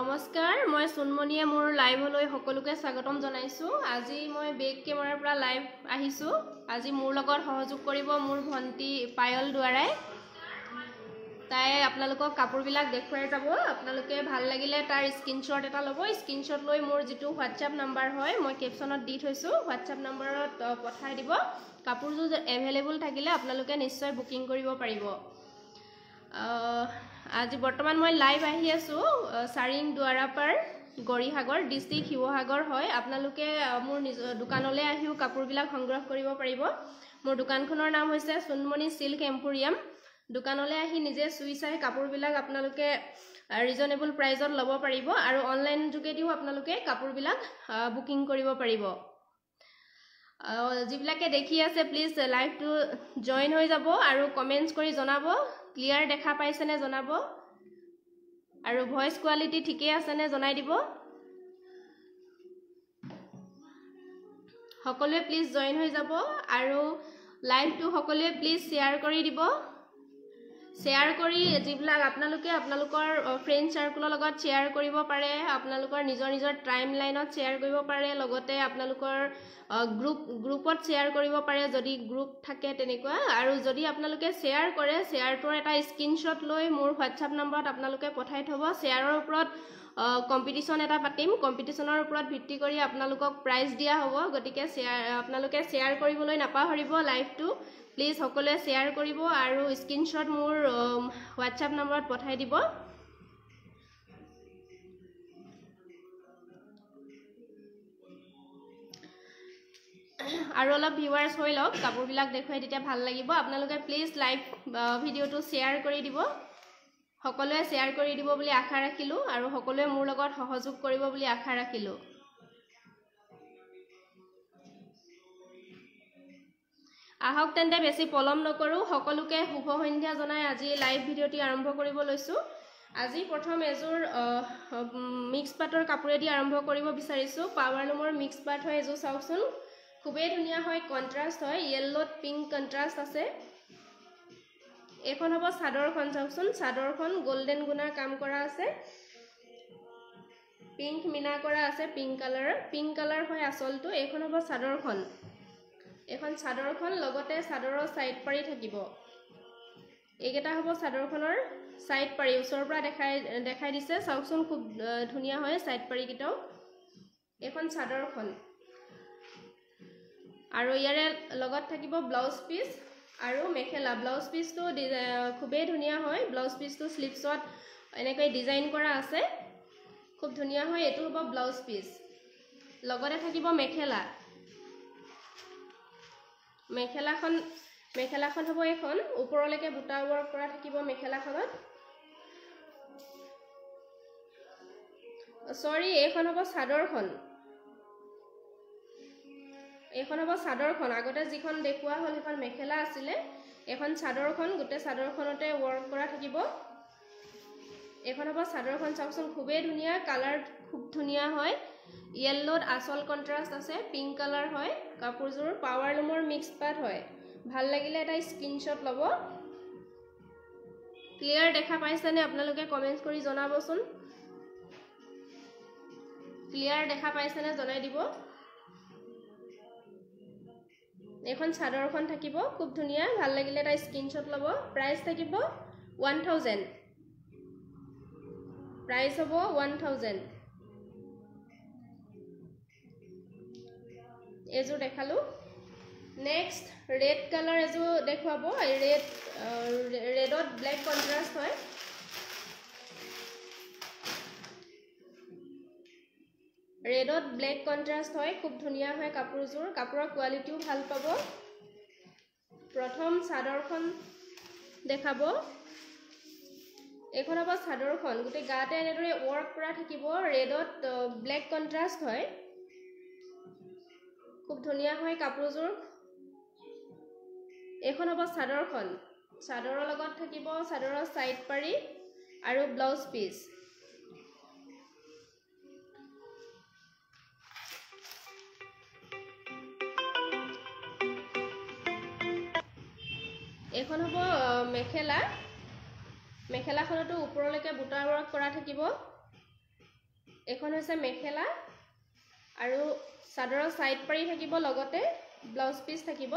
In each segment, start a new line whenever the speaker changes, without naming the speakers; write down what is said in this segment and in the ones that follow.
নমস্কাৰ, মই সোণমণিয়ে মোৰ লাইভলৈ সকলোকে স্বাগতম জনাইছোঁ। আজি মই বেক কেমেৰাৰ পৰা লাইভ আহিছোঁ। আজি মোৰ লগত সহযোগ কৰিব মোৰ ভণ্টি পায়ল দুৱাৰাই। তাই আপোনালোকক কাপোৰবিলাক দেখুৱাই যাব। আপোনালোকে ভাল লাগিলে তাৰ স্ক্ৰীনশ্বট এটা ল'ব। স্ক্ৰীনশ্বট লৈ মোৰ যিটো হোৱাটছআপ নাম্বাৰ হয়, মই কেপশ্যনত দি থৈছোঁ, হোৱাটছআপ নাম্বাৰত পঠাই দিব। কাপোৰযোৰ এভেইলেবল থাকিলে আপোনালোকে নিশ্চয় বুকিং কৰিব পাৰিব। আজি বৰ্তমান মই লাইভ আহি আছোঁ চাৰিং দুৱাৰাপাৰ, গৌৰীসাগৰ, ডিষ্ট্ৰিক্ট শিৱসাগৰ হয়। আপোনালোকে মোৰ নিজৰ দোকানলৈ আহিও কাপোৰবিলাক সংগ্ৰহ কৰিব পাৰিব। মোৰ দোকানখনৰ নাম হৈছে সোণমণি চিল্ক এম্পৰিয়াম। দোকানলৈ আহি নিজে চুই চাই কাপোৰবিলাক আপোনালোকে ৰিজনেবল প্ৰাইজত ল'ব পাৰিব আৰু অনলাইন যোগেদিও আপোনালোকে কাপোৰবিলাক বুকিং কৰিব পাৰিব। যিবিলাকে দেখি আছে, প্লিজ লাইভটো জইন হৈ যাব আৰু কমেণ্টছ কৰি জনাব, ক্লিয়াৰ দেখা পাইছেনে জনাব আৰু ভইচ কোৱালিটি ঠিকেই আছেনে জনাই দিব। সকলোৱে প্লিজ জইন হৈ যাব আৰু লাইভটো সকলোৱে প্লিজ শ্বেয়াৰ কৰি দিব। শ্বেয়াৰ কৰি যিবিলাক আপোনালোকে আপোনালোকৰ ফ্ৰেণ্ড চাৰ্কুলৰ লগত শ্বেয়াৰ কৰিব পাৰে, আপোনালোকৰ নিজৰ নিজৰ টাইম লাইনত শ্বেয়াৰ কৰিব পাৰে, লগতে আপোনালোকৰ গ্ৰুপত শ্বেয়াৰ কৰিব পাৰে যদি গ্ৰুপ থাকে তেনেকুৱা। আৰু যদি আপোনালোকে শ্বেয়াৰ কৰে, শ্বেয়াৰটোৰ এটা স্ক্ৰীনশ্বট লৈ মোৰ হোৱাটছআপ নম্বৰত আপোনালোকে পঠাই থ'ব। শ্বেয়াৰৰ ওপৰত কম্পিটিশ্যন এটা পাতিম, কম্পিটিশ্যনৰ ওপৰত ভিত্তি কৰি আপোনালোকক প্ৰাইজ দিয়া হ'ব। গতিকে আপোনালোকে শ্বেয়াৰ কৰিবলৈ নাপাহৰিব। লাইভটো প্লিজ সকলোৱে শ্বেয়াৰ কৰিব আৰু স্ক্ৰীনশ্বট মোৰ হোৱাটছআপ নম্বৰত পঠাই দিব। আৰু অলপ ভিউৱাৰ্ছ হৈ লওক, কাপোৰবিলাক দেখুৱাই তেতিয়া ভাল লাগিব। আপোনালোকে প্লিজ লাইভ ভিডিঅ'টো শ্বেয়াৰ কৰি দিব, সকলোৱে শ্বেয়াৰ কৰি দিব বুলি আশা ৰাখিলোঁ আৰু সকলোৱে মোৰ লগত সহযোগ কৰিব বুলি আশা ৰাখিলোঁ। আহক তেন্তে বেছি পলম নকৰোঁ, সকলোকে শুভ সন্ধ্যা জনাই আজি লাইভ ভিডিঅ'টি আৰম্ভ কৰিব লৈছোঁ। আজি প্ৰথম এযোৰ মিক্স পাটৰ কাপোৰেদি আৰম্ভ কৰিব বিচাৰিছোঁ। পাৱাৰলুমৰ মিক্স পাট হয় এযোৰ, চাওকচোন খুবেই ধুনীয়া হয়, কণ্ট্ৰাষ্ট হয়, য়েল্ল'ত পিংক কণ্ট্ৰাষ্ট আছে। এইখন হ'ব চাদৰখন, চাওকচোন চাদৰখন গল্ডেন গুণাৰ কাম কৰা আছে, পিংক মিনা কৰা আছে, পিংক কালাৰৰ, পিংক কালাৰ হয় আচলটো। এইখন হ'ব চাদৰখন, এইখন চাদৰখন লগতে চাদৰৰ ছাইড পাৰি থাকিব। এইকেইটা হ'ব চাদৰখনৰ ছাইড পাৰি, ওচৰৰ পৰা দেখাই দেখাই দিছে, চাওকচোন খুব ধুনীয়া হয় ছাইড পাৰিকেইটাও। এইখন চাদৰখন আৰু ইয়াৰে লগত থাকিব ব্লাউজ পিচ আৰু মেখেলা। ব্লাউজ পিচটো খুবেই ধুনীয়া হয়, ব্লাউজ পিচটো শ্লিভছত এনেকৈ ডিজাইন কৰা আছে, খুব ধুনীয়া হয়। এইটো হ'ব ব্লাউজ পিচ, লগতে থাকিব মেখেলা। মেখেলাখন হ'ব এইখন, ওপৰলৈকে বুটা ৱৰ্ক কৰা থাকিব মেখেলাখনত। চৰি, এইখন হ'ব চাদৰখন, এইখন হ'ব চাদৰখন। আগতে যিখন দেখুওৱা হ'ল সেইখন মেখেলা আছিলে, এইখন চাদৰখন, গোটেই চাদৰখনতে ৱৰ্ক কৰা থাকিব। এইখন হ'ব চাদৰখন, চাওকচোন খুবেই ধুনীয়া, কালাৰ খুব ধুনীয়া হয়, য়েল্ল'ত আচল কণ্ট্ৰাষ্ট আছে, পিংক কালাৰ হয় কাপোৰযোৰ, পাৱাৰলুমৰ মিক্স পাট হয়। ভাল লাগিলে এটা স্ক্ৰীনশ্বট ল'ব। ক্লিয়াৰ দেখা পাইছেনে আপোনালোকে কমেণ্টছ কৰি জনাবচোন, ক্লিয়াৰ দেখা পাইছেনে জনাই দিব। এইখন চাদৰখন থাকিব খুব ধুনীয়া, ভাল লাগিলে এটা স্ক্ৰীনশ্বট ল'ব। প্ৰাইচ থাকিব 1000, প্ৰাইচ হ'ব 1000। এইযোৰ দেখালোঁ। নেক্সট ৰেড কালাৰ এযোৰ দেখুৱাব, ৰেডত ব্লেক কণ্ট্ৰাষ্ট হয়। ৰেডত ব্লেক কণ্ট্ৰাষ্ট হয়, খুব ধুনীয়া হয় কাপোৰযোৰ, কাপোৰৰ কোৱালিটিও ভাল পাব। প্ৰথম চাদৰখন দেখাব, এইখন হ'ব চাদৰখন, গোটেই গাতে এনেদৰে ৱৰ্ক কৰা থাকিব, ৰেডত ব্লেক কণ্ট্ৰাষ্ট হয়, খুব ধুনীয়া হয় কাপোৰযোৰ। এইখন হ'ব চাদৰখন, চাদৰৰ লগত থাকিব চাদৰৰ ছাইড পাৰি আৰু ব্লাউজ পিচ। এইখন হ'ব মেখেলা, মেখেলাখনতো ওপৰলৈকে বুটা ৱৰ্ক কৰা থাকিব। এইখন হৈছে মেখেলা আৰু চাদৰৰ ছাইড পাৰি থাকিব, লগতে ব্লাউজ পিচ থাকিব।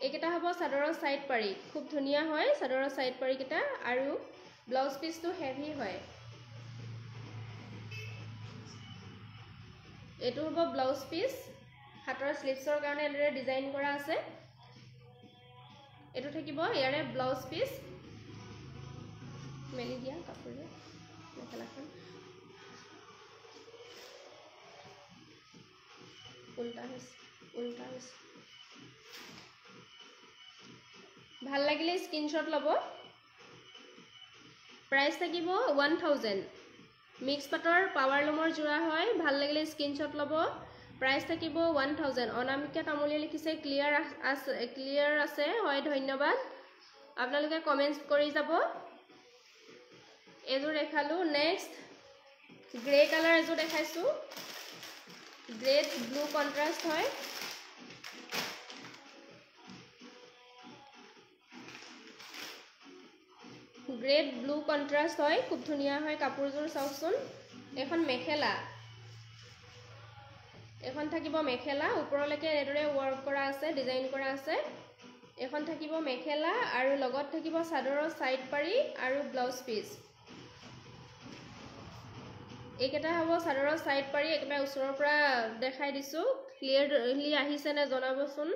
এইকেইটা হ'ব চাদৰৰ ছাইড পাৰি, খুব ধুনীয়া হয় চাদৰৰ ছাইড পাৰিকেইটা আৰু ব্লাউজ পিচটো হেভি হয়। এইটো হ'ব ব্লাউজ পিচ, হাতৰ শ্লিভছৰ কাৰণে এনেদৰে ডিজাইন কৰা আছে। এইটো থাকিব ইয়াৰে ব্লাউজ পিচ। মেলি দিয়া কাপোৰে মেখেলাখন উল্টা হৈছে, উল্টা হৈছে। ভাল লাগিলে স্ক্ৰীনশ্বট ল'ব। প্ৰাইচ থাকিব 1000। মিক্স পাটৰ পাৱাৰ লুমৰ যোৰা হয়। ভাল লাগিলে স্ক্ৰীনশ্বট ল'ব। প্ৰাইচ থাকিব 1000। অনামিকা তামুলীয়ে লিখিছে ক্লিয়াৰ আছে, ক্লিয়াৰ আছে হয়, ধন্যবাদ। আপোনালোকে কমেণ্টছ কৰি যাব। এইযোৰ দেখালোঁ। নেক্সট গ্ৰে কালাৰ এযোৰ দেখাইছোঁ, গ্ৰেত ব্লু কণ্ট্ৰাষ্ট হয়। গ্ৰেট ব্লু কণ্ট্ৰাষ্ট হয়, খুব ধুনীয়া হয় কাপোৰযোৰ। চাওকচোন, এখন মেখেলা, এখন থাকিব মেখেলা, ওপৰলৈকে এনেদৰে ৱৰ্ক কৰা আছে, ডিজাইন কৰা আছে। এখন থাকিব মেখেলা আৰু লগত থাকিব চাদৰৰ ছাইড পাৰি আৰু ব্লাউজ পিচ। এইকেইটা হ'ব চাদৰৰ ছাইড পাৰি। একেবাৰে ওচৰৰ পৰা দেখাই দিছোঁ, ক্লিয়াৰলি আহিছে নে জনাবচোন।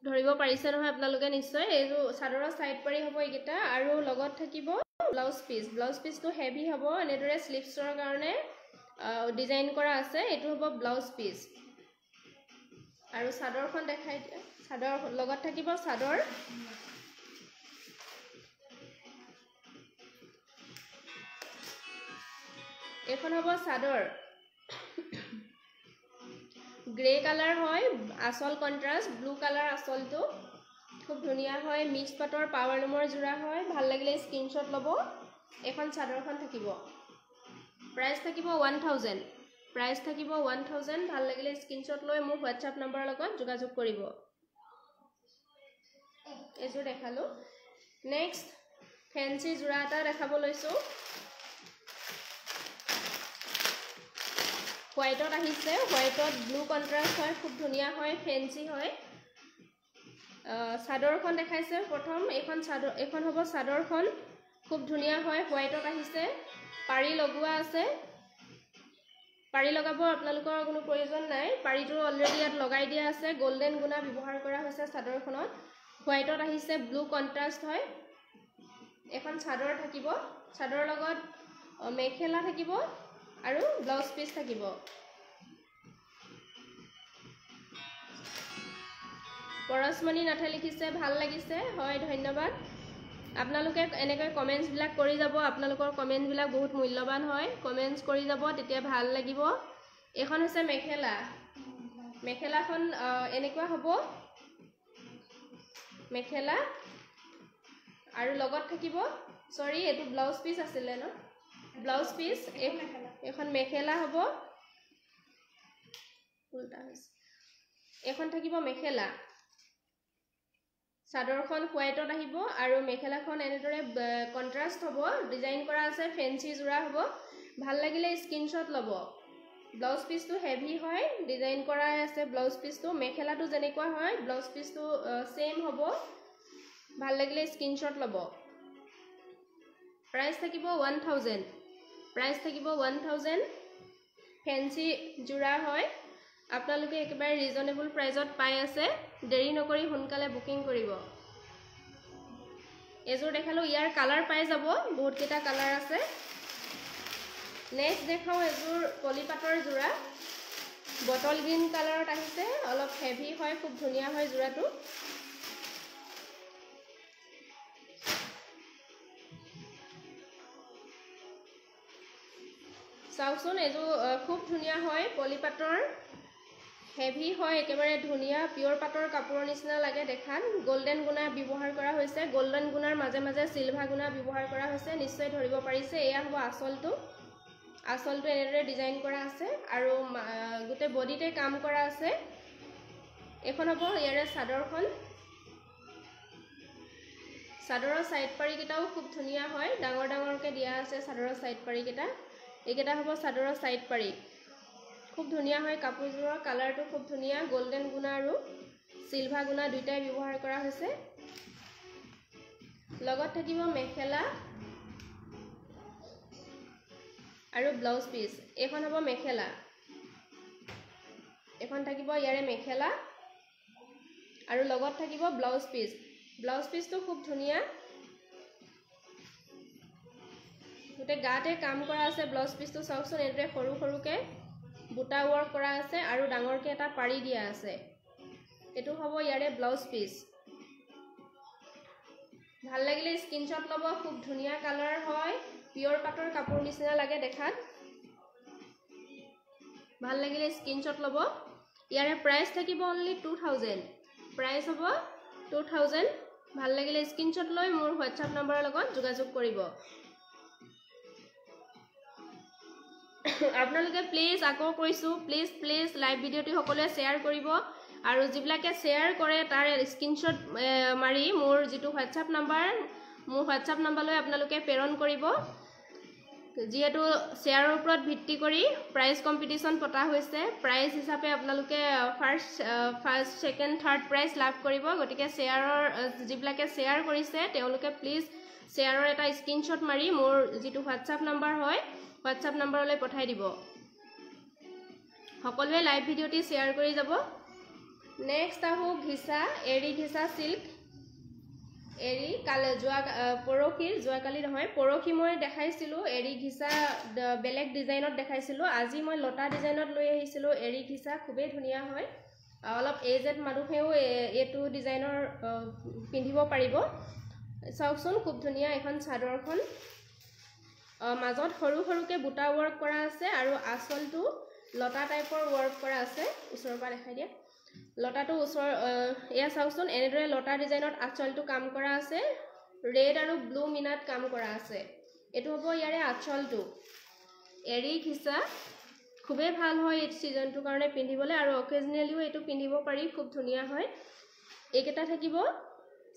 ধৰিব পাৰিছে নহয় আপোনালোকে নিশ্চয়। এইযোৰ চাদৰৰ ছাইড পাৰি হ'ব এইকেইটা আৰু লগত থাকিব ব্লাউজ পিচ। ব্লাউজ পিচটো হেভি হ'ব, এনেদৰে শ্লিভছৰ কাৰণে ডিজাইন কৰা আছে। এইটো হ'ব ব্লাউজ পিচ আৰু চাদৰখন দেখাই দিয়া। চাদৰ লগত থাকিব চাদৰ। এইখন হ'ব চাদৰ, গ্ৰে কালাৰ হয়, আচল কণ্ট্ৰাষ্ট ব্লু কালাৰ আচলটো, খুব ধুনীয়া হয়। মিক্স পাটৰ পাৱাৰ লুমৰ যোৰা হয়। ভাল লাগিলে স্ক্ৰীনশ্বট ল'ব। এইখন চাদৰখন থাকিব। প্ৰাইচ থাকিব 1000। প্ৰাইচ থাকিব 1000। ভাল লাগিলে স্ক্ৰীনশ্বট লৈ মোৰ হোৱাটছআপ নম্বৰৰ লগত যোগাযোগ কৰিব। এইযোৰ দেখালোঁ। নেক্সট ফেঞ্চি যোৰা এটা দেখাব লৈছোঁ। হোৱাইটত আহিছে, হোৱাইটত ব্লু কণ্ট্ৰাষ্ট হয়, খুব ধুনীয়া হয়, ফেঞ্চি হয়। চাদৰখন দেখাইছে প্ৰথম। এইখন চাদৰ, এইখন হ'ব চাদৰখন, খুব ধুনীয়া হয়, হোৱাইটত আহিছে, পাৰি লগোৱা আছে। পাৰি লগাব আপোনালোকৰ কোনো প্ৰয়োজন নাই, পাৰিটো অলৰেডি ইয়াত লগাই দিয়া আছে। গল্ডেন গুণা ব্যৱহাৰ কৰা হৈছে চাদৰখনত। হোৱাইটত আহিছে, ব্লু কণ্ট্ৰাষ্ট হয়। এখন চাদৰ থাকিব, চাদৰৰ লগত মেখেলা থাকিব আৰু ব্লাউজ পিচ থাকিব। পৰশমণি নাথে লিখিছে ভাল লাগিছে, হয় ধন্যবাদ। আপোনালোকে এনেকৈ কমেণ্টছবিলাক কৰি যাব, আপোনালোকৰ কমেণ্টছবিলাক বহুত মূল্যৱান হয়। কমেণ্টছ কৰি যাব, তেতিয়া ভাল লাগিব। এইখন হৈছে মেখেলা, মেখেলাখন এনেকুৱা হ'ব মেখেলা আৰু লগত থাকিব, চৰি এইটো ব্লাউজ পিচ আছিলে ন, ব্লাউজ পিচ। এইখন মেখেলা হ'ব, উল্টা হৈছে। এইখন থাকিব মেখেলা। চাদৰখন হোৱাইটত আহিব আৰু মেখেলাখন এনেদৰে কণ্ট্ৰাষ্ট হ'ব, ডিজাইন কৰা আছে, ফেঞ্চি যোৰা হ'ব। ভাল লাগিলে স্ক্ৰীনশ্বট ল'ব। ব্লাউজ পিচটো হেভি হয়, ডিজাইন কৰাই আছে ব্লাউজ পিচটো। মেখেলাটো যেনেকুৱা হয় ব্লাউজ পিচটো ছেইম হ'ব। ভাল লাগিলে স্ক্ৰীনশ্বট ল'ব। প্ৰাইচ থাকিব 1000। প্ৰাইচ থাকিব 1000। ফেঞ্চি যোৰা হয়, আপোনালোকে একেবাৰে ৰিজনেবল প্ৰাইজত পাই আছে। দেৰি নকৰি সোনকালে বুকিং কৰিব। এইযোৰ দেখালোঁ, ইয়াৰ কালাৰ পাই যাব, বহুতকেইটা কালাৰ আছে। নেক্সট দেখাওঁ এযোৰ পলিপাটৰ যোৰা, বটল গ্ৰীণ কালাৰত আহিছে, অলপ হেভি হয়, খুব ধুনীয়া হয় যোৰাটো। চাওকচোন, এইযোৰ খুব ধুনীয়া হয়, পলিপাটৰ, হেভি হয়, একেবাৰে ধুনীয়া পিয়ৰ পাটৰ কাপোৰৰ নিচিনা লাগে দেখাত। গল্ডেন গুণা ব্যৱহাৰ কৰা হৈছে, গল্ডেন গুণাৰ মাজে মাজে চিলভাৰ গুণা ব্যৱহাৰ কৰা হৈছে, নিশ্চয় ধৰিব পাৰিছে। এয়া হ'ব আচলটো, আচলটো এনেদৰে ডিজাইন কৰা আছে আৰু গোটেই বডিতে কাম কৰা আছে। এইখন হ'ব ইয়াৰে চাদৰখন। চাদৰৰ ছাইড পাৰিকেইটাও খুব ধুনীয়া হয়, ডাঙৰ ডাঙৰকৈ দিয়া আছে চাদৰৰ ছাইড পাৰিকেইটা। এইকেইটা হ'ব চাদৰৰ ছাইড পাৰি, খুব ধুনীয়া হয়। কাপোৰযোৰৰ কালাৰটো খুব ধুনীয়া, গল্ডেন গুণা আৰু চিলভাৰ গুণা দুয়োটাই ব্যৱহাৰ কৰা হৈছে। লগত থাকিব মেখেলা আৰু ব্লাউজ পিচ। এইখন হ'ব মেখেলা, এইখন থাকিব ইয়াৰে মেখেলা আৰু লগত থাকিব ব্লাউজ পিচ। ব্লাউজ পিচটো খুব ধুনীয়া, গোটেই গাতে কাম কৰা আছে। ব্লাউজ পিচটো চাওকচোন, এইদৰে সৰু সৰুকৈ বুটা ৱৰ্ক কৰা আছে আৰু ডাঙৰকৈ এটা পাৰি দিয়া আছে। এইটো হ'ব ইয়াৰে ব্লাউজ পিচ। ভাল লাগিলে স্ক্ৰীনশ্বট ল'ব। খুব ধুনীয়া কালাৰ হয়, পিয়ৰ পাটৰ কাপোৰ নিচিনা লাগে দেখাত। ভাল লাগিলে স্ক্ৰীনশ্বট ল'ব। ইয়াৰে প্ৰাইচ থাকিব অনলি 2000, প্ৰাইচ হ'ব 2000। ভাল লাগিলে স্ক্ৰীনশ্বট লৈ মোৰ হোৱাটছআপ নম্বৰৰ লগত যোগাযোগ কৰিব। আপোনালোকে প্লিজ, আকৌ কৈছোঁ, প্লিজ প্লিজ লাইভ ভিডিঅ'টি সকলোৱে শ্বেয়াৰ কৰিব আৰু যিবিলাকে শ্বেয়াৰ কৰে তাৰ স্ক্ৰীনশ্বট মাৰি মোৰ যিটো হোৱাটছআপ নাম্বাৰ, মোৰ হোৱাটছআপ নাম্বাৰলৈ আপোনালোকে প্ৰেৰণ কৰিব। যিহেতু শ্বেয়াৰৰ ওপৰত ভিত্তি কৰি প্ৰাইজ কম্পিটিশ্যন পতা হৈছে, প্ৰাইজ হিচাপে আপোনালোকে ফাৰ্ষ্ট ছেকেণ্ড থাৰ্ড প্ৰাইজ লাভ কৰিব। গতিকে শ্বেয়াৰৰ যিবিলাকে শ্বেয়াৰ কৰিছে তেওঁলোকে প্লিজ শ্বেয়াৰৰ এটা স্ক্ৰীনশ্বট মাৰি মোৰ যিটো হোৱাটছআপ নাম্বাৰ হয়, হোৱাটছআপ নাম্বাৰলৈ পঠাই দিব। সকলোৱে লাইভ ভিডিঅ'টি শ্বেয়াৰ কৰি যাব। নেক্সট আহোঁ ঘিচা, এৰী ঘিচা চিল্ক। এৰী কালি যোৱা পৰহি, যোৱাকালি নহয় পৰহি মই দেখাইছিলোঁ এৰী ঘিচা, বেলেগ ডিজাইনত দেখাইছিলোঁ। আজি মই লতা ডিজাইনত লৈ আহিছিলোঁ এৰী ঘিচা, খুবেই ধুনীয়া হয়। অলপ এজেড মানুহেও এইটো ডিজাইনৰ পিন্ধিব পাৰিব। চাওকচোন খুব ধুনীয়া এখন চাদৰখন, মাজত সৰু সৰুকৈ বুটা ৱৰ্ক কৰা আছে আৰু আঁচলটো লতা টাইপৰ ৱৰ্ক কৰা আছে। ওচৰৰ পৰা দেখাই দিয়া লতাটো ওচৰ, এয়া চাওকচোন, এনেদৰে লতা ডিজাইনত আঁচলটো কাম কৰা আছে, ৰেড আৰু ব্লু মিনাত কাম কৰা আছে। এইটো হ'ব ইয়াৰে আঁচলটো। এৰী ঘিচা খুবেই ভাল হয় এই ছিজনটোৰ কাৰণে পিন্ধিবলৈ আৰু অকেজনেলিও এইটো পিন্ধিব পাৰি, খুব ধুনীয়া হয়। এইকেইটা থাকিব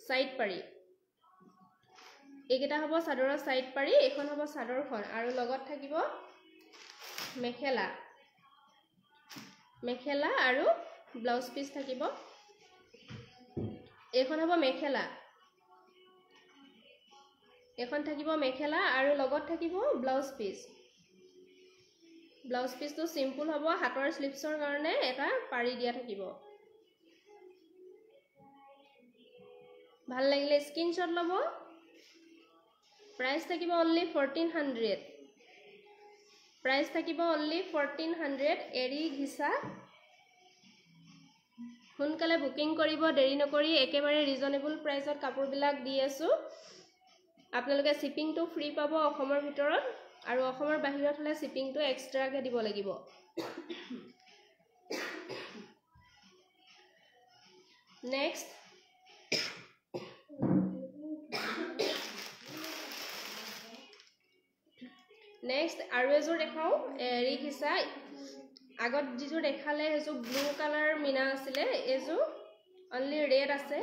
ছাইড পাৰি, এইকেইটা হ'ব চাদৰৰ ছাইড পাৰি, এইখন হ'ব চাদৰখন আৰু লগত থাকিব মেখেলা, মেখেলা আৰু ব্লাউজ পিচ থাকিব। এইখন হ'ব মেখেলা, এইখন থাকিব মেখেলা আৰু লগত থাকিব ব্লাউজ পিচ। ব্লাউজ পিচটো চিম্পুল হ'ব, হাতৰ শ্লিভছৰ কাৰণে এটা পাৰি দিয়া থাকিব। ভাল লাগিলে স্ক্ৰীনশ্বট ল'ব। প্ৰাইচ থাকিব অনলি 1400, প্ৰাইচ থাকিব অনলি 1400। এৰী ঘিচা, সোনকালে বুকিং কৰিব, দেৰি নকৰি। একেবাৰে ৰিজনেবল প্ৰাইচত কাপোৰবিলাক দি আছোঁ। আপোনালোকে শ্বিপিংটো ফ্ৰী পাব অসমৰ ভিতৰত আৰু অসমৰ বাহিৰত হ'লে শ্বিপিংটো এক্সট্ৰাকৈ দিব লাগিব। নেক্সট নেক্সট আৰু এযোৰ দেখাওঁ এৰী ঘিচা। আগত যিযোৰ দেখালে সেইযোৰ ব্লু কালাৰ মিনা আছিলে, এইযোৰ অনলি ৰেড আছে।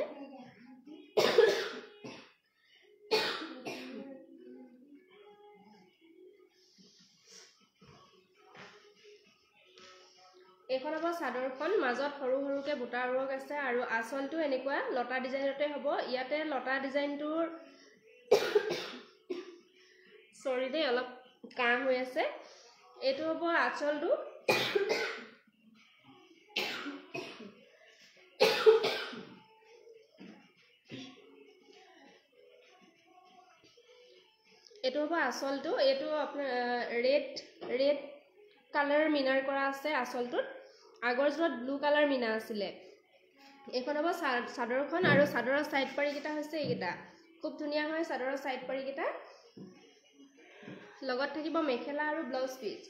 এইখন হ'ব চাদৰখন, মাজত সৰু সৰুকৈ বুটা ৱৰ্ক আছে আৰু আঁচলটো এনেকুৱা লতা ডিজাইনতে হ'ব। ইয়াতে লতা ডিজাইনটোৰ, চৰি দেই অলপ কাহ হৈ আছে, এইটো হ'ব আঁচলটো। এইটো হ'ব আঁচলটো। এইটো আপোনাৰ ৰেড কালাৰ মিনাৰ কৰা আছে আঁচলটোত, আগৰ যোৰত ব্লু কালাৰ মিনা আছিলে। এইখন হ'ব চাদৰখন আৰু চাদৰৰ ছাইড পাৰিকেইটা হৈছে এইকেইটা, খুব ধুনীয়া হয় চাদৰৰ ছাইড পাৰিকেইটা। লগত থাকিব মেখেলা আৰু ব্লাউজ পিচ।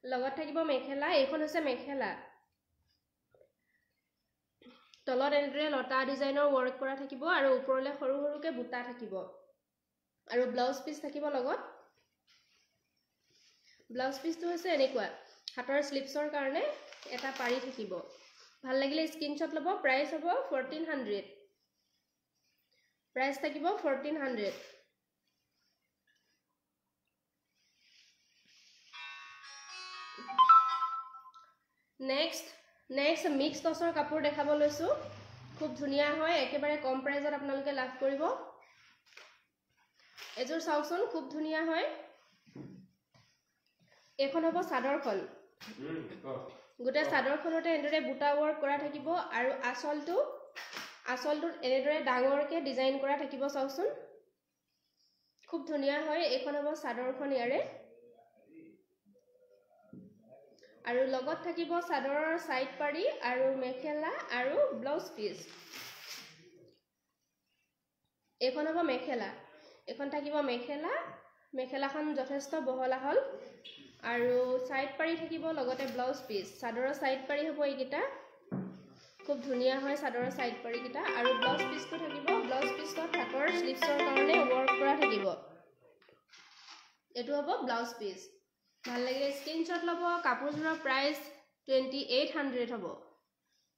লগত থাকিব মেখেলা, এইখন হৈছে মেখেলা। তলত এনেদৰে লতা ডিজাইনৰ ৱৰ্ক কৰা থাকিব আৰু ওপৰলৈ সৰু সৰুকৈ বুটা থাকিব। আৰু ব্লাউজ পিচ থাকিব লগত। ব্লাউজ পিচটো হৈছে এনেকুৱা, হাতৰ শ্লিভছৰ কাৰণে এটা পাৰি থাকিব। ভাল লাগিলে স্ক্ৰীনশ্বট ল'ব। প্ৰাইচ হ'ব 1400, প্ৰাইচ থাকিব 1400। নেক্সট মিক্স টচৰ কাপোৰ দেখাব লৈছোঁ। খুব ধুনীয়া হয়, একেবাৰে কম প্ৰাইজত আপোনালোকে লাভ কৰিব। এযোৰ চাওকচোন, খুব ধুনীয়া হয়। এইখন হ'ব চাদৰখন, গোটেই চাদৰখনতে এনেদৰে বুটা ৱৰ্ক কৰা থাকিব আৰু আঁচলটোত এনেদৰে ডাঙৰকৈ ডিজাইন কৰা থাকিব। চাওকচোন, খুব ধুনীয়া হয়। এইখন হ'ব চাদৰখন ইয়াৰে, আৰু লগত থাকিব চাদৰৰ চাইড পাৰি আৰু মেখেলা আৰু ব্লাউজ পিচ। এইখন হ'ব মেখেলা, এইখন থাকিব মেখেলা। মেখেলাখন যথেষ্ট বহল আহল আৰু চাইড পাৰি থাকিব, লগতে ব্লাউজ পিচ। চাদৰৰ চাইড পাৰি হ'ব এইকেইটা, খুব ধুনীয়া হয় চাদৰৰ চাইড পাৰিকেইটা। আৰু ব্লাউজ পিচটো থাকিব, ব্লাউজ পিচত হাতৰ শ্লিভছৰ কাৰণে ৱৰ্ক কৰা থাকিব। এইটো হ'ব ব্লাউজ পিচ। ভাল লাগিলে স্ক্ৰীনশ্বট ল'ব। কাপোৰযোৰৰ প্ৰাইচ 2800 হ'ব।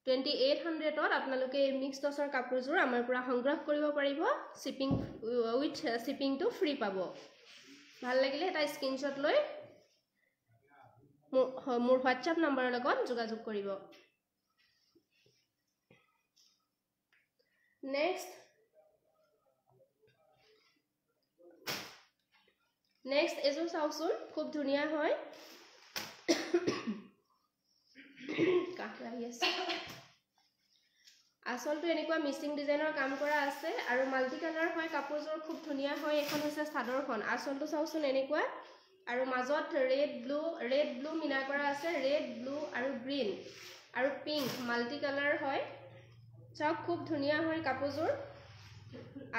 2800ত আপোনালোকে এই মিক্স টচৰ কাপোৰযোৰ আমাৰ পৰা সংগ্ৰহ কৰিব পাৰিব। শ্বিপিং উইথ শ্বিপিংটো ফ্ৰী পাব। ভাল লাগিলে এটা স্ক্ৰীনশ্বট লৈ মোৰ হোৱাটছআপ নম্বৰৰ লগত যোগাযোগ কৰিব। নেক্সট এযোৰ চাওকচোন, খুব ধুনীয়া হয়। কাহ লাগি আছে। আচলটো এনেকুৱা মিচিং ডিজাইনৰ কাম কৰা আছে আৰু মাল্টি কালাৰ হয় কাপোৰযোৰ, খুব ধুনীয়া হয়। এইখন হৈছে চাদৰখন, আচলটো চাওকচোন এনেকুৱা, আৰু মাজত ৰেড ব্লু মিনা কৰা আছে, ৰেড ব্লু আৰু গ্ৰীণ আৰু পিংক মাল্টি কালাৰ হয়। চাওক, খুব ধুনীয়া হয় কাপোৰযোৰ।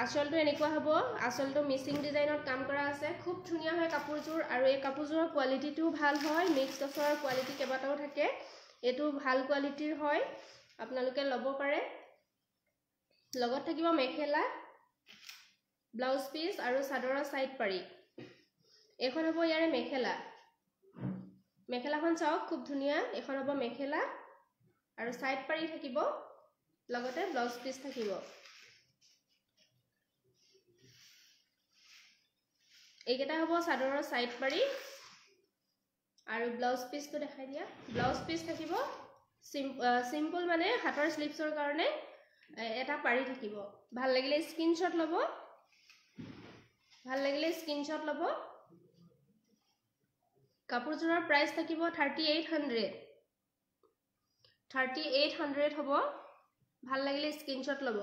আচলটো এনেকুৱা হ'ব, আচলটো মিচিং ডিজাইনত কাম কৰা আছে, খুব ধুনীয়া হয় কাপোৰযোৰ। আৰু এই কাপোৰযোৰৰ কোৱালিটিটোও ভাল হয়। মিক্স টচৰ কোৱালিটি কেইবাটাও থাকে, এইটো ভাল কোৱালিটিৰ হয়, আপোনালোকে ল'ব পাৰে। লগত থাকিব মেখেলা, ব্লাউজ পিচ আৰু চাদৰৰ চাইড পাৰি। এইখন হ'ব ইয়াৰে মেখেলা। মেখেলাখন চাওক, খুব ধুনীয়া। এইখন হ'ব মেখেলা আৰু চাইড পাৰি থাকিব, লগতে ব্লাউজ পিচ থাকিব। এইকেইটা হ'ব চাদৰৰ চাইড পাৰি আৰু ব্লাউজ পিচটো দেখাই দিয়া। ব্লাউজ পিচ থাকিব চিম্পল, মানে হাতৰ শ্লিভছৰ কাৰণে এটা পাৰি থাকিব। ভাল লাগিলে স্ক্ৰীনশ্বট ল'ব, ভাল লাগিলে স্ক্ৰীনশ্বট ল'ব। কাপোৰযোৰৰ প্ৰাইচ থাকিব 3800, 3800 হ'ব। ভাল লাগিলে স্ক্ৰীনশ্বট ল'ব।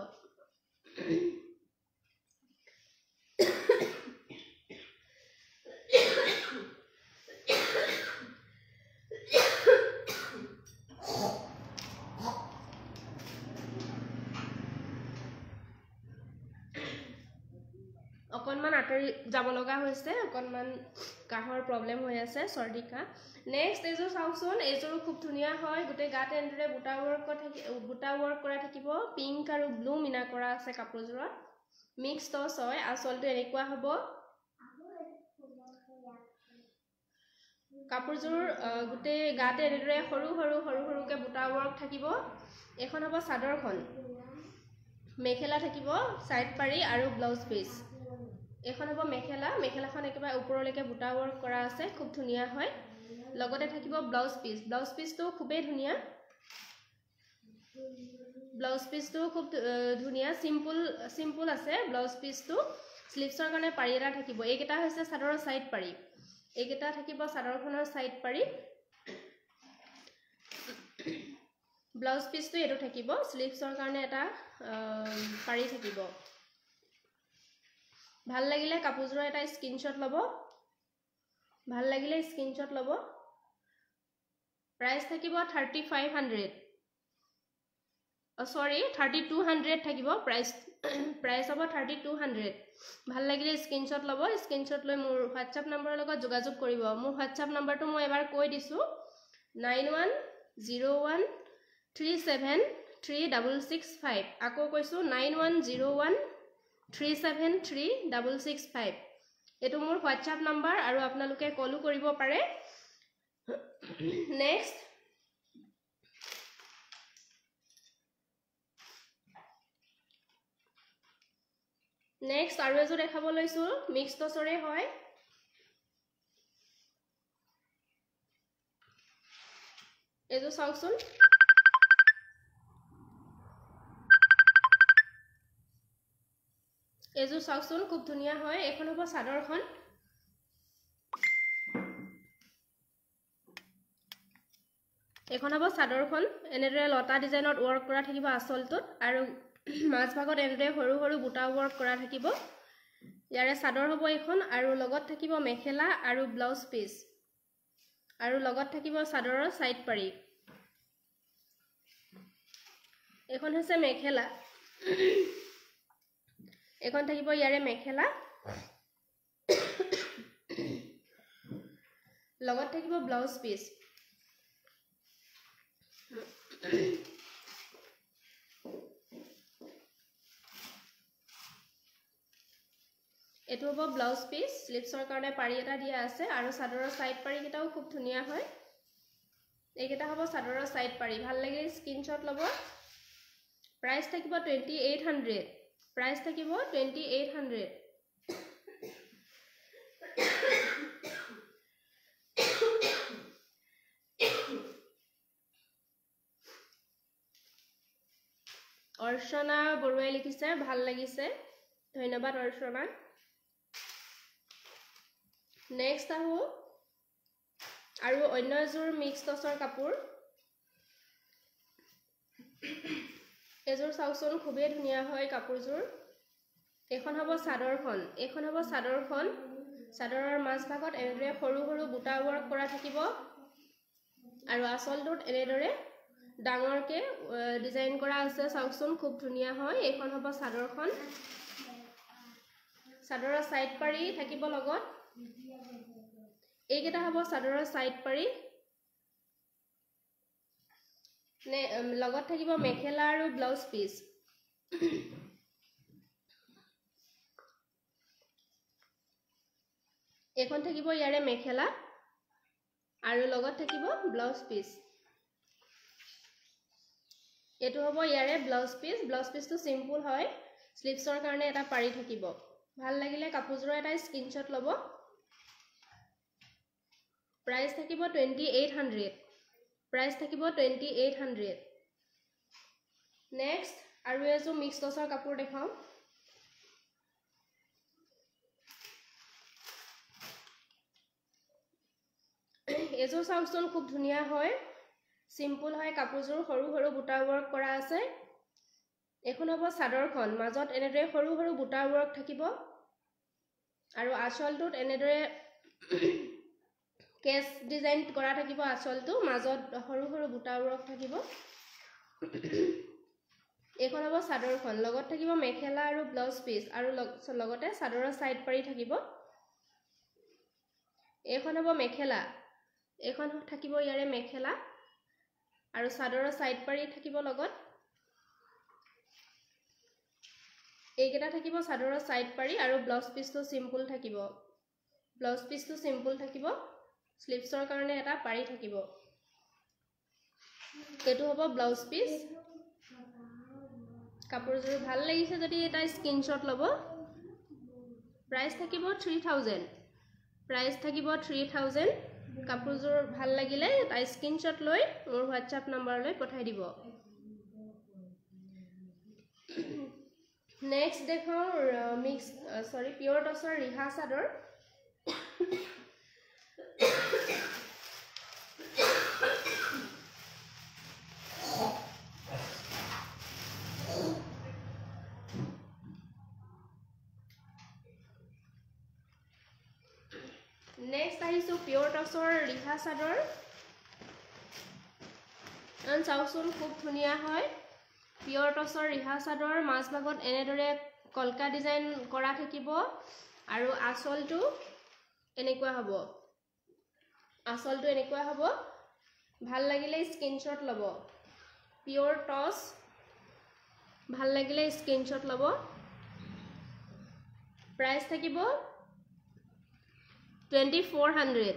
অকণমান আঁতৰি যাব লগা হৈছে, অকণমান কাহৰ প্ৰব্লেম হৈ আছে, চৰ্দি কাহ। নেক্সট এইযোৰ চাওকচোন, এইযোৰো খুব ধুনীয়া হয়। গোটেই গাত এনেদৰে বুটা ৱৰ্ক কৰা থাকিব। পিংক আৰু ব্লু মিনা কৰা আছে কাপোৰযোৰত, মিক্স টচ হয়। আচলটো এনেকুৱা হ'ব কাপোৰযোৰ, গোটেই গাতে এনেদৰে সৰু সৰু সৰু সৰুকৈ বুটা ৱৰ্ক থাকিব। এইখন হ'ব চাদৰখন, মেখেলা থাকিব, চাইড পাৰি আৰু ব্লাউজ পিচ। এইখন হ'ব মেখেলা, মেখেলাখন একেবাৰে ওপৰলৈকে বুটা ৱৰ্ক কৰা আছে, খুব ধুনীয়া হয়। লগতে থাকিব ব্লাউজ পিচ, ব্লাউজ পিচটো খুবেই ধুনীয়া। ব্লাউজ পিচটো খুব ধুনীয়া, চিম্পুল আছে ব্লাউজ পিচটো। শ্লিভছৰ কাৰণে পাৰি এটা থাকিব। এইকেইটা হৈছে চাদৰৰ চাইড পাৰি, এইকেইটা থাকিব চাদৰখনৰ চাইড পাৰি। ব্লাউজ পিচটো এইটো থাকিব, শ্লিভছৰ কাৰণে এটা পাৰি থাকিব। ভাল লাগিলে কাপোৰযোৰৰ এটা স্ক্ৰীনশ্বট ল'ব, ভাল লাগিলে স্ক্ৰীনশ্বট ল'ব। প্ৰাইচ থাকিব 3500, চৰি 3200 থাকিব প্ৰাইচ। প্ৰাইচ হ'ব 3200। ভাল লাগিলে স্ক্ৰীনশ্বট ল'ব, স্ক্ৰীনশ্বট লৈ মোৰ হোৱাটছআপ নম্বৰৰ লগত যোগাযোগ কৰিব। মোৰ হোৱাটছআপ নম্বৰটো মই এবাৰ কৈ দিছোঁ, 9101 37 3665। আকৌ কৈছোঁ, 9101 37 3665। এইটো মোৰ হোৱাটছআপ নাম্বাৰ আৰু আপোনালোকে কলো কৰিব পাৰে। নেক্সট নেক্সট আৰু এযোৰ দেখাব লৈছোঁ, মিক্স টচৰে হয়। এইযোৰ চাওকচোন, এইযোৰ চাওকচোন খুব ধুনীয়া হয়। এইখন হ'ব চাদৰখন। এইখন হ'ব চাদৰখন, এনেদৰে লতা ডিজাইনত ৱৰ্ক কৰা থাকিব আচলটোত আৰু মাজভাগত এনেদৰে সৰু সৰু বুটা ৱৰ্ক কৰা থাকিব। ইয়াৰে চাদৰ হ'ব এইখন আৰু লগত থাকিব মেখেলা আৰু ব্লাউজ পিচ আৰু লগত থাকিব চাদৰৰ ছাইড পাৰি। এইখন হৈছে মেখেলা, এইখন থাকিব ইয়াৰে মেখেলা, লগত থাকিব ব্লাউজ পিচ। এইটো হ'ব ব্লাউজ পিচ, শ্লিভছৰ কাৰণে পাৰি এটা দিয়া আছে আৰু চাদৰৰ ছাইড পাৰিকেইটাও খুব ধুনীয়া হয়। এইকেইটা হ'ব চাদৰৰ ছাইড পাৰি। ভাল লাগিলে স্ক্ৰীনশ্বট ল'ব। প্ৰাইচ থাকিব 2800, প্ৰাইচ থাকিব 2800। অৰ্চনা বৰুৱাই লিখিছে ভাল লাগিছে, ধন্যবাদ অৰ্চনা। নেক্সট আহোঁ আৰু অন্য এযোৰ মিক্স টচৰ কাপোৰ। এযোৰ চাওকচোন খুবেই ধুনীয়া হয় কাপোৰযোৰ। এইখন হ'ব চাদৰখন, এইখন হ'ব চাদৰখন। চাদৰৰ মাজভাগত এনেদৰে সৰু সৰু বুটা ৱৰ্ক কৰা থাকিব আৰু আচলটোত এনেদৰে ডাঙৰকৈ ডিজাইন কৰা আছে, চাওকচোন খুব ধুনীয়া হয়। এইখন হ'ব চাদৰখন, চাদৰৰ ছাইড পাৰি থাকিব লগত। এইকেইটা হ'ব চাদৰৰ ছাইড পাৰি, লগত থাকিব মেখেলা আৰু ব্লাউজ পিচ। এইখন থাকিব ইয়াৰে মেখেলা আৰু লগত থাকিব ব্লাউজ পিচ। এইটো হ'ব ইয়াৰে ব্লাউজ পিচ। ব্লাউজ পিচটো চিম্পুল হয়, শ্লিভছৰ কাৰণে এটা পাৰি থাকিব। ভাল লাগিলে কাপোৰযোৰৰ এটা স্ক্ৰীনশ্বট ল'ব। প্ৰাইচ থাকিব 2800, প্ৰাইচ থাকিব 2800। নেক্সট আৰু এযোৰ মিক্স টচৰ কাপোৰ দেখাওঁ। এযোৰ চাওকচোন খুব ধুনীয়া হয়, চিম্পুল হয় কাপোৰযোৰ, সৰু সৰু বুটা ৱৰ্ক কৰা আছে। এইখন হ'ব চাদৰখন, মাজত এনেদৰে সৰু সৰু বুটা ৱৰ্ক থাকিব আৰু আঁচলটোত এনেদৰে কেচ ডিজাইন কৰা থাকিব। আঁচলটো মাজত সৰু সৰু বুটা ৱৰ্ক থাকিব। এইখন হ'ব চাদৰখন, লগত থাকিব মেখেলা আৰু ব্লাউজ পিচ আৰু লগতে চাদৰৰ ছাইড পাৰি থাকিব। এইখন হ'ব মেখেলা, এইখন থাকিব ইয়াৰে মেখেলা আৰু চাদৰৰ ছাইড পাৰি থাকিব লগত। এইকেইটা থাকিব চাদৰৰ ছাইড পাৰি আৰু ব্লাউজ পিচটো চিম্পুল থাকিব। ব্লাউজ পিচটো চিম্পুল থাকিব, শ্লিভছৰ কাৰণে এটা পাৰি থাকিব। এইটো হ'ব ব্লাউজ পিচ। কাপোৰযোৰ ভাল লাগিছে যদি এটা স্ক্ৰীনশ্বট ল'ব। প্ৰাইচ থাকিব 3000, প্ৰাইচ থাকিব 3000। কাপোৰযোৰ ভাল লাগিলে এটা স্ক্ৰীনশ্বট লৈ মোৰ হোৱাটছআপ নাম্বাৰলৈ পঠাই দিব। নেক্সট দেখাওঁ মিক্স চৰি পিয়ৰ টচৰ ৰিহা চাদৰ। নেক্সট আহিছোঁ পিয়ৰ টচৰ ৰিহা চাদৰ। চাওকচোন খুব ধুনীয়া হয় পিয়ৰ টচৰ ৰিহা চাদৰ। মাজভাগত এনেদৰে কলকা ডিজাইন কৰা থাকিব আৰু আঁচলটো এনেকুৱা হ'ব, আঁচলটো এনেকুৱা হ'ব। ভাল লাগিলে স্ক্ৰীনশ্বট ল'ব। পিয়ৰ টচ, ভাল লাগিলে স্ক্ৰীনশ্বট ল'ব। প্ৰাইচ থাকিব 2400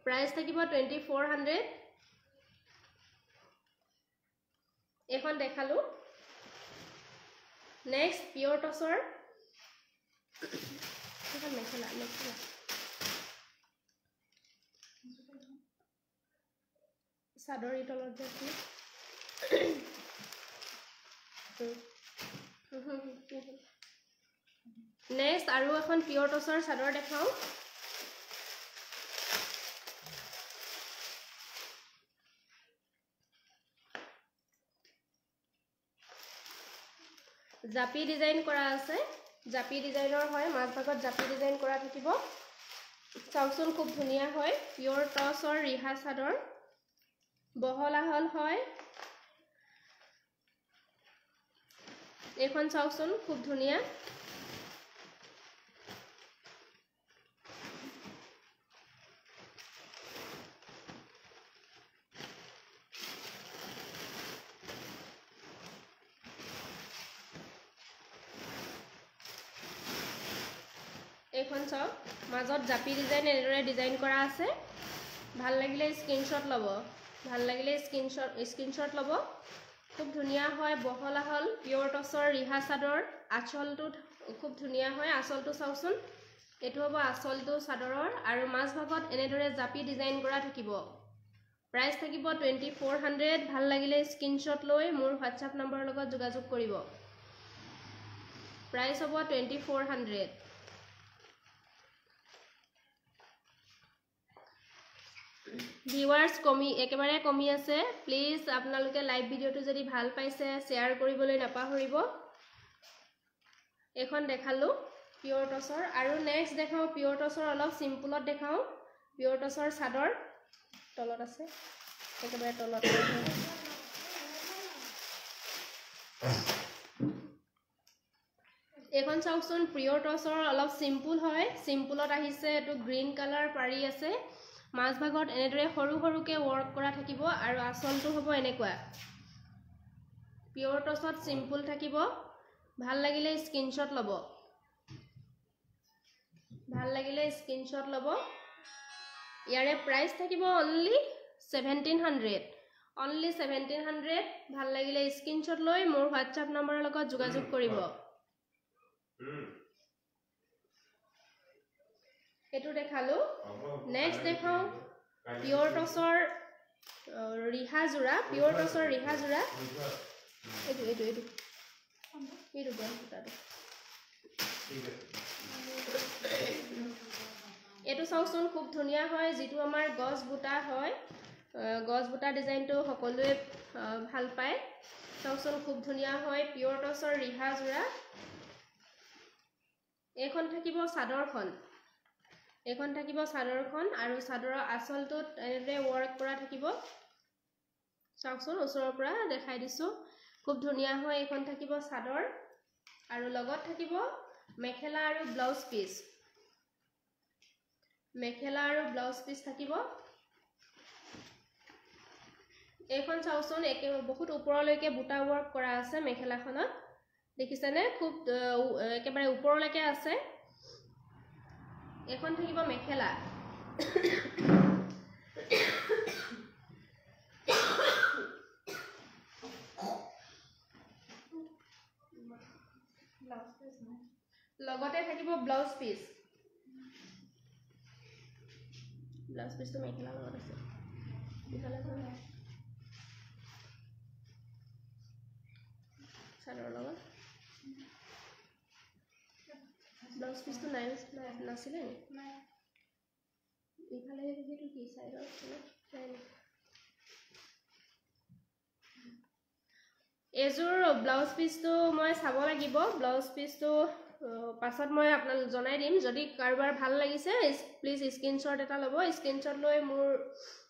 প্ৰাইচ থাকিব 2400। এইখন দেখালোঁ। নেক্সট পিয়ৰ টচৰ সেইখন মেখেলা, মেখেলা চাদৰ তলত যে। নেক্সট আৰু এখন পিয়ৰ টচৰ চাদৰ দেখাওঁ। জাপি ডিজাইন কৰা আছে, জাপি ডিজাইনৰ হয়, মাজভাগত জাপি ডিজাইন কৰা থাকিব। চাওকচোন, খুব ধুনীয়া হয়। পিয়ৰ টচৰ ৰিহা চাদৰ, বহল আহল হয়। এইখন চাওকচোন, খুব ধুনীয়া। এইখন চাওক, মাজত জাপি ডিজাইন এনেদৰে ডিজাইন কৰা আছে। ভাল লাগিলে স্ক্ৰীনশ্বট ল'ব, ভাল লাগিলে স্ক্ৰীনশ্বট ল'ব। খুব ধুনীয়া হয়, বহল আহল পিয়ৰ টচৰ ৰিহা চাদৰ। আঁচলটো খুব ধুনীয়া হয়। আঁচলটো চাওকচোন, এইটো হ'ব আঁচলটো চাদৰৰ আৰু মাজভাগত এনেদৰে জাপি ডিজাইন কৰা থাকিব। প্ৰাইচ থাকিব 2400। ভাল লাগিলে স্ক্ৰীনশ্বট লৈ মোৰ হোৱাটছআপ নম্বৰৰ লগত যোগাযোগ কৰিব। প্ৰাইচ হ'ব 2400। ভিউৱাৰ্ছ কমি, একেবাৰে কমি আছে। প্লিজ আপোনালোকে লাইভ ভিডিঅ'টো যদি ভাল পাইছে, শ্বেয়াৰ কৰিবলৈ নাপাহৰিব। এইখন দেখালোঁ পিয়ৰ টচৰ। আৰু নেক্সট দেখাওঁ পিয়ৰ টচৰ, অলপ চিম্পুলত দেখাওঁ পিয়ৰ টচৰ চাদৰ। তলত আছে, একেবাৰে তলত। এইখন চাওকচোন, পিয়ৰ টচৰ অলপ চিম্পুল হয়, চিম্পুলত আহিছে। এইটো গ্ৰীণ কালাৰ পাৰি আছে, মাজভাগত এনেদৰে সৰু সৰুকৈ ৱৰ্ক কৰা থাকিব আৰু আঁচলটো হ'ব এনেকুৱা। পিয়ৰ টচত চিম্পুল থাকিব। ভাল লাগিলে স্ক্ৰীনশ্বট ল'ব, ভাল লাগিলে স্ক্ৰীনশ্বট ল'ব। ইয়াৰে প্ৰাইচ থাকিব অনলি 1700, অনলি 1700। ভাল লাগিলে স্ক্ৰীনশ্বট লৈ মোৰ হোৱাটছআপ নম্বৰৰ লগত যোগাযোগ কৰিব। এইটো দেখালোঁ। নেক্সট দেখাওঁ পিয়ৰ টচৰ ৰিহা যোৰা, পিয়ৰ টচৰ ৰিহা যোৰা। এইটো এইটো এইটো এইটো গছ সূতাটো। এইটো চাওকচোন, খুব ধুনীয়া হয়। যিটো আমাৰ গছ বুটা হয়, গছ বুটা ডিজাইনটো সকলোৱে ভাল পায়। চাওকচোন, খুব ধুনীয়া হয়, পিয়ৰ টচৰ ৰিহা যোৰা। এইখন থাকিব চাদৰখন, এইখন থাকিব চাদৰখন আৰু চাদৰৰ আঁচলটোত এনেদৰে ৱৰ্ক কৰা থাকিব। চাওকচোন, ওচৰৰ পৰা দেখাই দিছোঁ, খুব ধুনীয়া হয়। এইখন থাকিব চাদৰ আৰু লগত থাকিব মেখেলা আৰু ব্লাউজ পিচ, মেখেলা আৰু ব্লাউজ পিচ থাকিব। এইখন চাওকচোন, একে বহুত ওপৰলৈকে বুটা ৱৰ্ক কৰা আছে মেখেলাখনত, দেখিছেনে? খুব একেবাৰে ওপৰলৈকে আছে। এইখন থাকিব মেখেলা। লগতে থাকিব ব্লাউজ পিচ। ব্লাউজ পিচটো মেখেলাৰ লগত আছে। ইফালে চাদৰৰ লগত ব্লাউজ পিচটো নাই, নাছিলে নি ইফালে? সেইটো কি চাইডৰ নাই নি? এইযোৰ ব্লাউজ পিচটো মই চাব লাগিব। ব্লাউজ পিচটো পাছত মই আপোনাক জনাই দিম। যদি কাৰোবাৰ ভাল লাগিছে, প্লিজ স্ক্ৰীনশ্বট এটা ল'ব, স্ক্ৰীনশ্বট লৈ মোৰ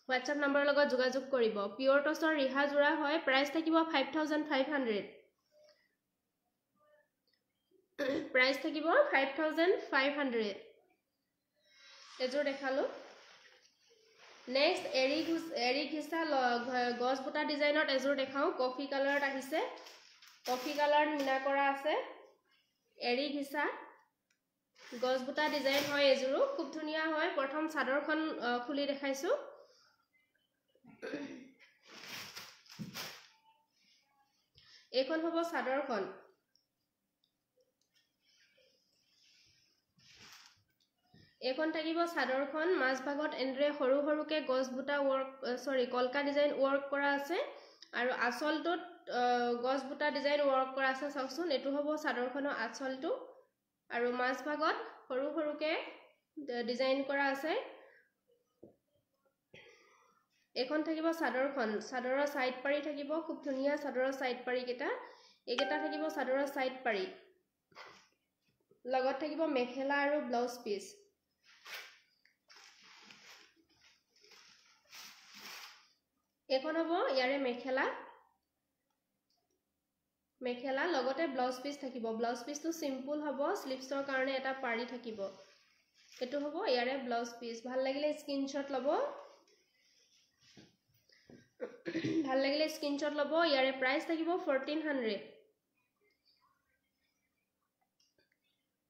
হোৱাটছআপ নম্বৰৰ লগত যোগাযোগ কৰিব। পিয়ৰ টচৰ ৰিহা যোৰা হয়, প্ৰাইচ থাকিব 5500, প্ৰাইচ থাকিব 5500। এযোৰ দেখালোঁ। নেক্সট এৰী ঘিচা গছ বুটা ডিজাইনত এযোৰ দেখাওঁ। কফি কালাৰত আহিছে, কফি কালাৰত মীনা কৰা আছে, এৰী ঘিচা। গছ বুটা ডিজাইন হয় এযোৰো, খুব ধুনীয়া হয়। প্ৰথম চাদৰখন খুলি দেখাইছোঁ। এইখন হ'ব চাদৰখন। এইখন থাকিব চাদৰখন। মাজভাগত এনেদৰে সৰু সৰুকৈ গছ বুটা ৱৰ্ক, চৰি, কলকা ডিজাইন ৱৰ্ক কৰা আছে আৰু আঁচলটোত গছ বুটা ডিজাইন ৱৰ্ক কৰা আছে। চাওকচোন, এইটো হ'ব চাদৰখনৰ আঁচলটো আৰু মাজভাগত সৰু সৰুকৈ ডিজাইন কৰা আছে। এইখন থাকিব চাদৰখন। চাদৰৰ চাইড পাৰি থাকিব, খুব ধুনীয়া চাদৰৰ চাইড পাৰিকেইটা। এইকেইটা থাকিব চাদৰৰ চাইড পাৰি, লগত থাকিব মেখেলা আৰু ব্লাউজ পিচ। এইখন হ'ব ইয়াৰে মেখেলা। মেখেলা লগতে ব্লাউজ পিচ থাকিব। ব্লাউজ পিচটো চিম্পুল হ'ব, শ্লিভছৰ কাৰণে এটা পাৰি থাকিব। এইটো হ'ব ইয়াৰে ব্লাউজ পিচ। ভাল লাগিলে স্ক্ৰীনশ্বট ল'ব, ভাল লাগিলে স্ক্ৰীনশ্বট ল'ব। ইয়াৰে প্ৰাইচ থাকিব 1400।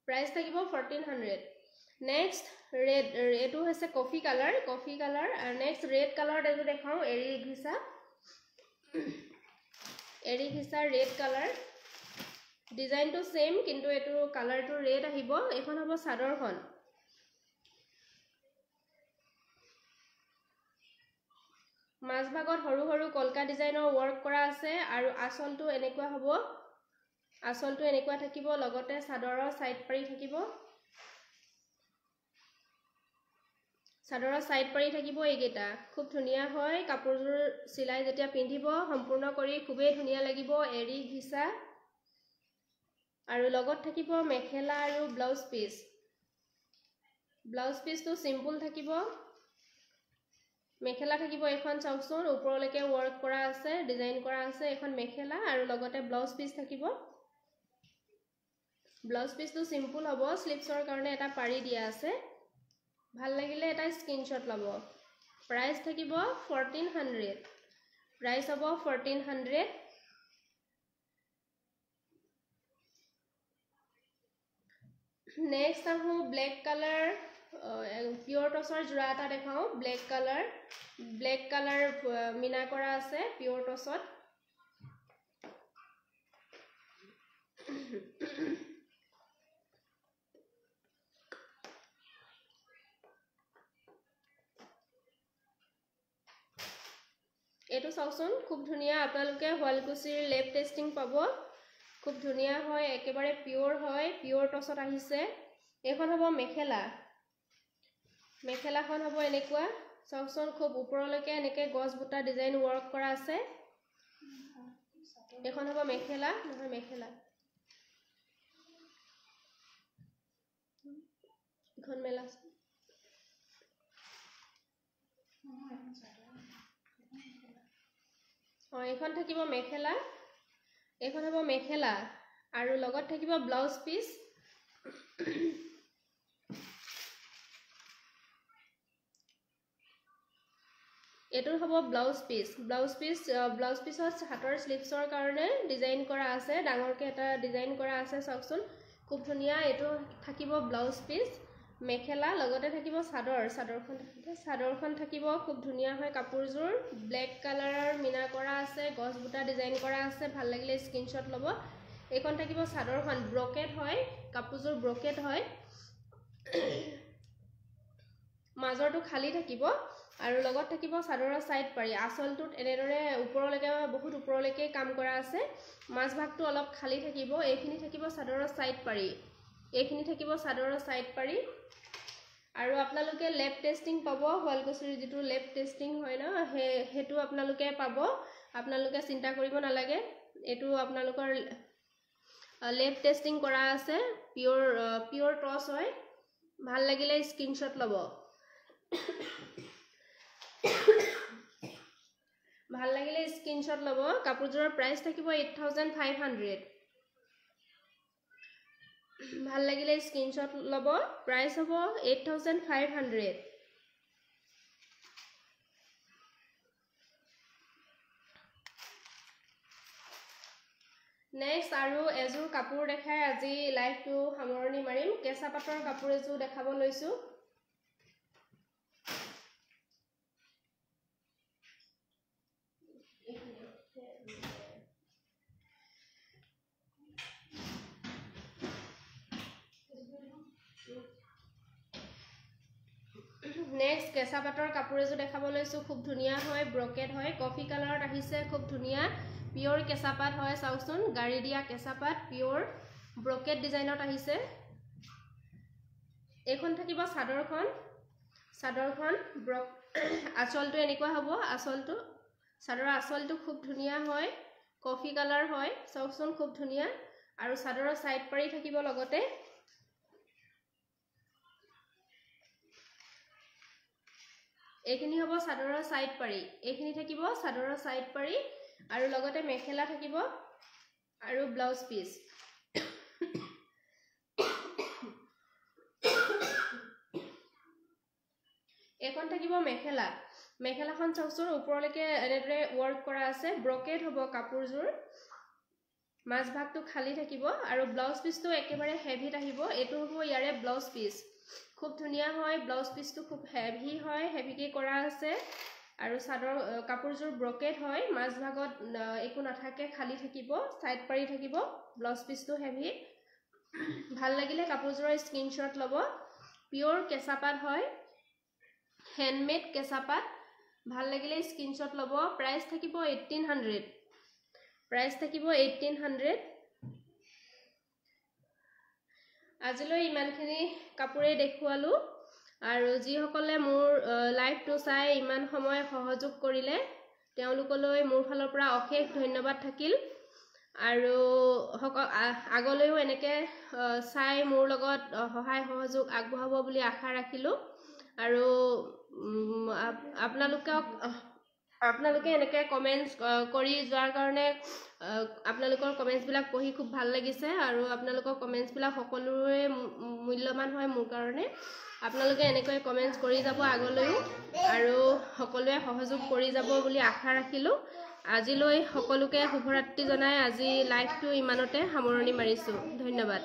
প্ৰাইচ থাকিব 1400। নেক্সট ৰেড, এইটো হৈছে কফি কালাৰ, কফি কালাৰ। আৰু নেক্সট ৰেড কালাৰত এইটো দেখাওঁ, এৰী ঘিচা, এৰী ঘিচা ৰেড কালাৰ। ডিজাইনটো ছেইম, কিন্তু এইটো কালাৰটো ৰেড আহিব। এইখন হ'ব চাদৰখন। মাজভাগত সৰু সৰু কলকা ডিজাইনৰ ৱৰ্ক কৰা আছে আৰু আঁচলটো এনেকুৱা হ'ব, আঁচলটো এনেকুৱা থাকিব, লগতে চাদৰৰ চাইড পাৰি থাকিব, চাদৰৰ চাইড পাৰি থাকিব। এইকেইটা খুব ধুনীয়া হয়। কাপোৰযোৰ চিলাই যেতিয়া পিন্ধিব সম্পূৰ্ণ কৰি খুবেই ধুনীয়া লাগিব। এৰী ঘিচা আৰু লগত থাকিব মেখেলা আৰু ব্লাউজ পিচ। ব্লাউজ পিচটো চিম্পুল থাকিব। মেখেলা থাকিব এইখন, চাওকচোন, ওপৰলৈকে ৱৰ্ক কৰা আছে, ডিজাইন কৰা আছে। এইখন মেখেলা আৰু লগতে ব্লাউজ পিচ থাকিব। ব্লাউজ পিচটো চিম্পুল হ'ব, শ্লিভছৰ কাৰণে এটা পাৰি দিয়া আছে। ভাল লাগিলে এটা স্ক্ৰীনশ্বট ল'ব। প্ৰাইচ থাকিব 1400। প্ৰাইচ হ'ব 1400। নেক্সট আহোঁ ব্লেক কালাৰ, পিয়ৰ টচৰ যোৰা এটা দেখাওঁ। Black colour, black colour Meena কৰা আছে পিয়ৰ টচত। এইটো চাওকচোন, খুব ধুনীয়া। আপোনালোকে শুৱালকুছিৰ লেব টেষ্টিং পাব। খুব ধুনীয়া হয়, একেবাৰে পিয়ৰ হয়, পিয়ৰ টচত আহিছে। এইখন হ'ব মেখেলা। মেখেলাখন হ'ব এনেকুৱা, চাওকচোন, খুব ওপৰলৈকে এনেকৈ গছ বুটা ডিজাইন ৱৰ্ক কৰা আছে। এইখন হ'ব মেখেলা, নহয় মেখেলা, এইখন মেলা। অঁ, এইখন থাকিব মেখেলা, এইখন হ'ব মেখেলা আৰু লগত থাকিব ব্লাউজ পিচ। এইটো হ'ব blouse piece. Blouse piece, blouse পিচত হাতৰ শ্লিভছৰ কাৰণে ডিজাইন কৰা আছে, ডাঙৰকৈ এটা ডিজাইন কৰা আছে, চাওকচোন, খুব ধুনীয়া। এইটো থাকিব ব্লাউজ পিচ, মেখেলা, লগতে থাকিব চাদৰ। চাদৰখন, চাদৰখন থাকিব, খুব ধুনীয়া হয় কাপোৰযোৰ। ব্লেক কালাৰৰ মীনা কৰা আছে, গছ বুটা ডিজাইন কৰা আছে। ভাল লাগিলে স্ক্ৰীনশ্বট ল'ব। এইখন থাকিব চাদৰখন, ব্ৰকেট হয় কাপোৰযোৰ, ব্ৰকেট হয়, মাজৰটো খালী থাকিব আৰু লগত থাকিব চাদৰৰ চাইড পাৰি। আঁচলটোত এনেদৰে ওপৰলৈকে, বহুত ওপৰলৈকে কাম কৰা আছে, মাজভাগটো অলপ খালী থাকিব। এইখিনি থাকিব চাদৰৰ চাইড পাৰি, এইখিনি থাকিব চাদৰৰ চাইড পাৰি। আৰু আপোনালোকে লেব টেষ্টিং পাব, শুৱালকুছিৰ যিটো লেব টেষ্টিং হয় ন, সেইটো আপোনালোকে পাব। আপোনালোকে চিন্তা কৰিব নালাগে, এইটো আপোনালোকৰ লেব টেষ্টিং কৰা আছে, পিয়ৰ, পিয়ৰ টচ হয়। ভাল লাগিলে স্ক্ৰীনশ্বট ল'ব। ভাল লাগিলে স্ক্ৰীনশ্বট ল'ব। কাপোৰযোৰৰ প্ৰাইচ থাকিব 8500। ভাল লাগিলে স্ক্ৰীনশ্বট ল'ব। প্ৰাইচ হ'ব 8500। নেক্সট আৰু এযোৰ কাপোৰ দেখাই আজি লাইভটো সামৰণি মাৰিম। কেঁচা পাটৰ কাপোৰ এযোৰ দেখাব লৈছোঁ। নেক্সট কেঁচা পাটৰ কাপোৰ এযোৰ দেখাব লৈছোঁ। খুব ধুনীয়া হয়, ব্ৰকেট হয়, কফি কালাৰত আহিছে, খুব ধুনীয়া পিয়ৰ কেঁচা পাত হয়। চাওকচোন, গাড়ী দিয়া কেঁচা পাত, পিয়ৰ ব্ৰকেট ডিজাইনত আহিছে। এইখন থাকিব চাদৰখন। চাদৰখন আঁচলটো এনেকুৱা হ'ব। আঁচলটো, চাদৰৰ আঁচলটো খুব ধুনীয়া হয়, কফি কালাৰ হয়। চাওকচোন, খুব ধুনীয়া। আৰু চাদৰৰ ছাইড পাৰি থাকিব লগতে। এইখিনি হ'ব চাদৰৰ ছাইড পাৰি, এইখিনি থাকিব চাদৰৰ ছাইড পাৰি, আৰু লগতে মেখেলা থাকিব আৰু ব্লাউজ পিচ। এইখন থাকিব মেখেলা। মেখেলাখন চাওকচোন, ওপৰলৈকে এনেদৰে ৱৰ্ক কৰা আছে, ব্ৰকেট হ'ব কাপোৰযোৰ, মাজভাগটো খালী থাকিব। আৰু ব্লাউজ পিচটো একেবাৰে হেভিত আহিব। এইটো হ'ব ইয়াৰে ব্লাউজ পিচ। খুব ধুনীয়া হয়, ব্লাউজ পিচটো খুব হেভি হয়, হেভিকৈ কৰা আছে। আৰু চাদৰ কাপোৰযোৰ ব্ৰকেট হয়, মাজভাগত একো নাথাকে, খালী থাকিব, ছাইড পাৰি থাকিব। ব্লাউজ পিচটো হেভি। ভাল লাগিলে কাপোৰযোৰৰ স্ক্ৰীনশ্বট ল'ব। পিয়ৰ কেঁচা পাত হয়, হেণ্ডমেড কেঁচা পাত। ভাল লাগিলে স্ক্ৰীনশ্বট ল'ব। প্ৰাইচ থাকিব 1800। প্ৰাইচ থাকিব 1800। আজিলৈ ইমানখিনি কাপোৰেই দেখুৱালোঁ। আৰু যিসকলে মোৰ লাইভটো চাই ইমান সময় সহযোগ কৰিলে, তেওঁলোকলৈ মোৰ ফালৰ পৰা অশেষ ধন্যবাদ থাকিল। আৰু আগলৈও এনেকৈ চাই মোৰ লগত সহায় সহযোগ আগবঢ়াব বুলি আশা ৰাখিলোঁ। আৰু আপোনালোকে এনেকৈ কমেণ্টছ কৰি যোৱাৰ কাৰণে আপোনালোকৰ কমেণ্টছবিলাক পঢ়ি খুব ভাল লাগিছে। আৰু আপোনালোকৰ কমেণ্টছবিলাক সকলোৰে মূল্যৱান হয় মোৰ কাৰণে। আপোনালোকে এনেকৈ কমেণ্টছ কৰি যাব আগলৈও, আৰু সকলোৱে সহযোগ কৰি যাব বুলি আশা ৰাখিলোঁ। আজিলৈ সকলোকে শুভৰাত্ৰি জনাই আজি লাইভটো ইমানতে সামৰণি মাৰিছোঁ। ধন্যবাদ।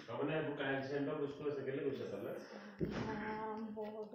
তাৰমানে এইবোৰ কাৰেণ্ট চাৰেণ্টৰ বস্তু আছে, কেলৈ গৈছে তালৈ?
বহুত